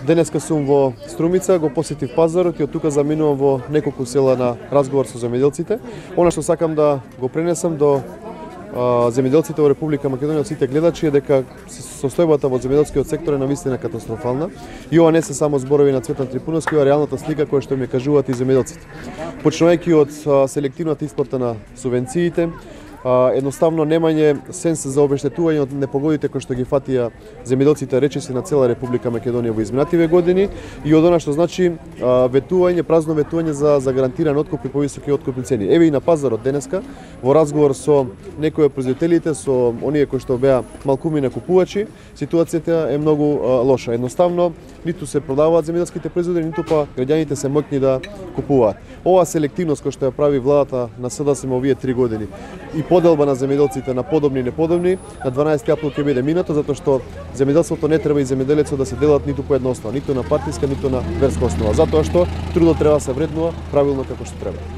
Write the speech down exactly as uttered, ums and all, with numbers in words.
Денеска сум во Струмица, го посетив пазарот и од тука заминувам во неколку села на разговор со земјоделците. Она што сакам да го пренесам до а, земјоделците во Република Македонија, од сите гледачи, е дека состојбата во земјоделскиот сектор е навистина катастрофална. И ова не се само зборови на Цветан Трипуновски, ова е реалната слика која што ми кажуваат и земјоделците. Почнувајќи од а, селективната исплата на субвенциите, едноставно немање сенс за обештетување од непогодите кои што ги фатија земјоделците речиси на цела Република Македонија во изминативе години и од она што значи ветување, празно ветување за за гарантиран откуп и повисоки откупни цени. Еве и на пазарот денеска во разговор со некои од производителите, со оние кои што беа малкуми на купувачи, ситуацијата е многу лоша. Едноставно ниту се продаваат земјоделските производи, ниту па граѓаните се моќни да купуваат. Оваа селективност која што ја прави владата на СДСМ овие три години и поделба на земјоделците на подобни и неподобни, на дванаесети април ќе биде минато, затоа што земјоделството не треба и земјоделецот да се делат ниту по една основа, ниту на партиска, ниту на верска основа, затоа што трудот треба да се вреднува правилно како што треба.